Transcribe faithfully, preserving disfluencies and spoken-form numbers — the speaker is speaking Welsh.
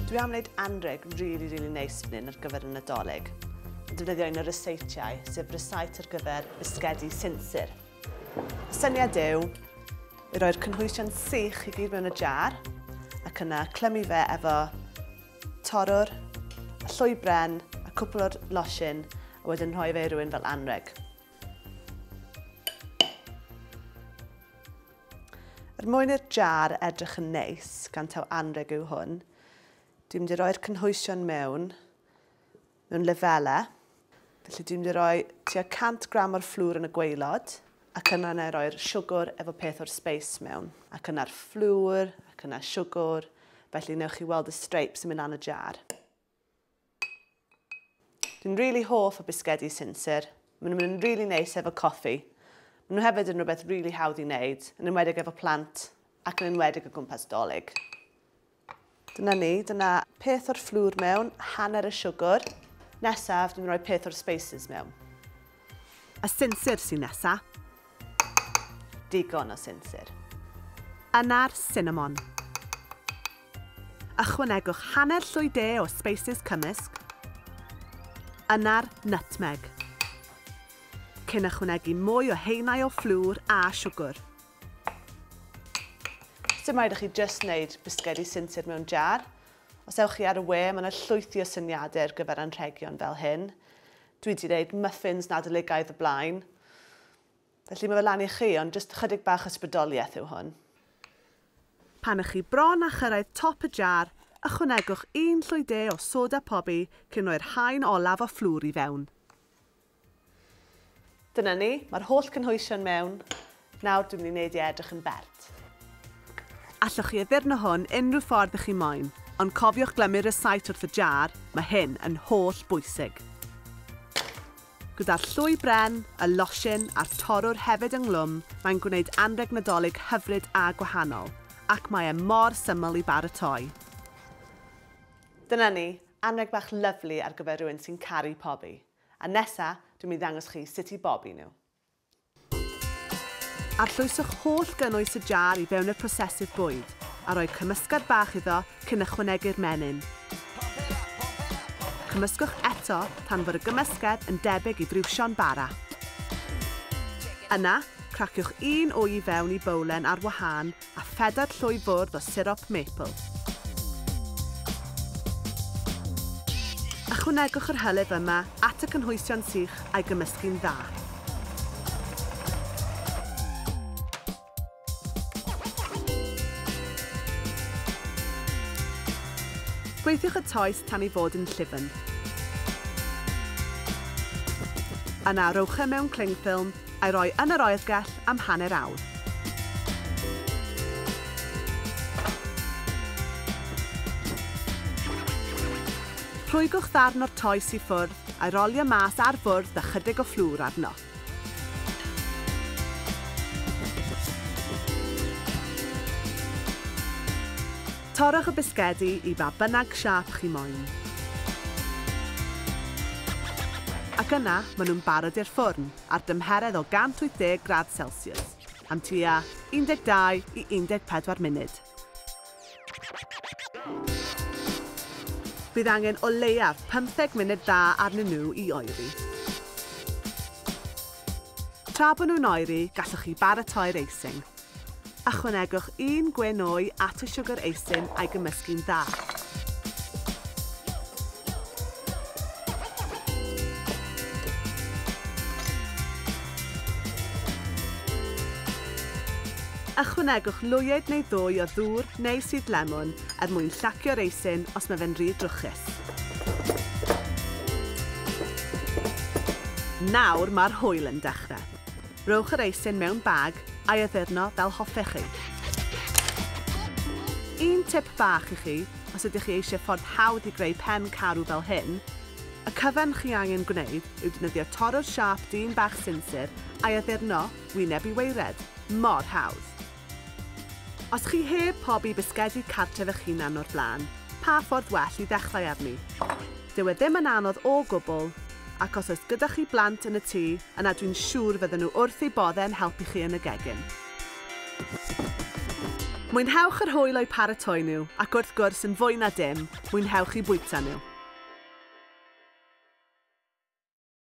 Dwi am wneud anreg really, really neis fan hyn ar gyfer y Nadolig. Yn defnyddio un o'r ryseitiau, sef rysait ar gyfer bisgedi sinsir. Y syniad yw i roi'r cynhwysion sych i gyd mewn y jar ac yna clymu fe efo torrwr, a llwy bren, a cwpl o'r losin, a wedyn rhoi fe i rywun fel anreg. Er mwyn i'r jar edrych yn neis, gan taw anreg yw hwn, dwi'n mynd i roi'r cynhwysion mewn, mewn lefelau. Felly dwi'n mynd i roi tua cant gram o'r fflwr yn y gwaelod, ac yna na i roi'r siwgr efo peth o'r spice mewn. Ac yna'r fflwr, ac yna siwgr, felly newch chi weld y stripes yn mynd lan y jar. Dwi'n really hoff o bisgedi sinsir. Maen nhw'n mynd yn really neis efo coffi. Maen nhw hefyd yn rhywbeth really hawdd i wneud, yn enwedig efo plant ac yn enwedig o gwmpas Dolig. Dyna ni, dyna peth o'r fflwr mewn, hanner y siwgr. Nesaf, dwi'n rhoi peth o'r spices mewn. Y sinsir sy'n nesa. Digon o sinsir. Yna'r cinnamon. Ychwanegwch hanner llwy de o spices cymysg. Yna'r nutmeg. Cyn ychwanegu mwy o haenau o fflwr a siwgr. Dim rhaid i chi jyst wneud bisgedi sinsir mewn jar. Os ewch chi ar y we, mae yna llwythi o syniadau ar gyfer anrhegion fel hyn. Dwi wedi gwneud muffins Nadoligaidd y blaen. Felly mae fe lan i chi, ond jyst chydig bach ysbrydoliaeth yw hwn. Pan ych chi bron a chyrraedd top y jar, ychwanegwch un llwy de o soda pobi cyn rhoi'r haen olaf o fflwr i fewn. Dyna ni, mae'r holl cynhwysion mewn. Nawr dwi'n mynd i wneud i edrych yn bert. Allwch chi addurno hwn unrhyw ffordd ych chi moyn, ond cofiwch glymu'r rysait wrth y jar, mae hyn yn holl bwysig. Gyda'r llwy bren, y losin a'r torrwr hefyd ynghlwm, mae'n gwneud anrheg Nadolig hyfryd a gwahanol, ac mae e mor syml i baratoi. Dyna ni, anrheg bach lyfli ar gyfer rhywun sy'n caru pobi. A nesa, dwi'n mynd i ddangos chi sut i bobi nhw. Arllwyswch holl gynnwys y jar i fewn y prosesydd bwyd a rhoi cymysgad bach iddo cyn ychwanegu'r menyn. Cymysgwch eto tan fod y gymysgedd yn debyg i friwsion bara. Yna, craciwch un wy i fewn i bowlen ar wahân a phedair llwy fwrdd o sirop maple. Ychwanegwch yr hylif yma at y cynhwysion sych a'i gymysgu'n dda. Gweithiwch y toes tan ei fod yn llyfn. Yna rowch e mewn cling film a'i roi yn yr oergell am hanner awr. Rhwygwch ddarn o'r toes i ffwrdd a'i rolio mas ar fwrdd a chydig o fflwr arno. Torrwch y bisgedi i ba bynnag siâp chi moyn. Ac yna, maen nhw'n barod i'r ffwrn ar dymheredd o cant wyth deg gradd Celsius, am tua un deg dau i un deg pedwar munud. Bydd angen o leiaf pymtheg munud dda arnyn nhw i oeri. Tra bod nhw'n oeri, gallwch chi baratoi'r icing. Ychwanegwch un gwyn wy at y siwgr eisin a'i gymysgu'n dda. Ychwanegwch lwyed neu ddwy o ddŵr neu sudd lemwn er mwyn llacio'r eisin os mae fe'n rhy drwchus. Nawr mae'r hwyl yn dechrau. Rowch yr eisin mewn bag a'i addurno fel hoffech chi. Un tip bach i chi, os ydych chi eisiau ffordd hawdd i greu pen carw fel hyn, y cyfan chi angen gwneud yw defnyddio torrwr siâp dyn bach sinsir a'i addurno wyneb i waered. Mor hawdd. Os chi heb pobi bisgedi cartref eich hunan o'r blaen, pa ffordd well i ddechrau arni? Dyw e ddim yn anodd o gwbl, ac os oes gyda chi blant yn y tŷ, yna dwi'n siŵr fydden nhw wrth eu boddau yn helpu chi yn y gegin. Mwynhewch yr hwyl o'u paratoi nhw, ac wrth gwrs yn fwy na dim, mwynhewch eu bwyta nhw.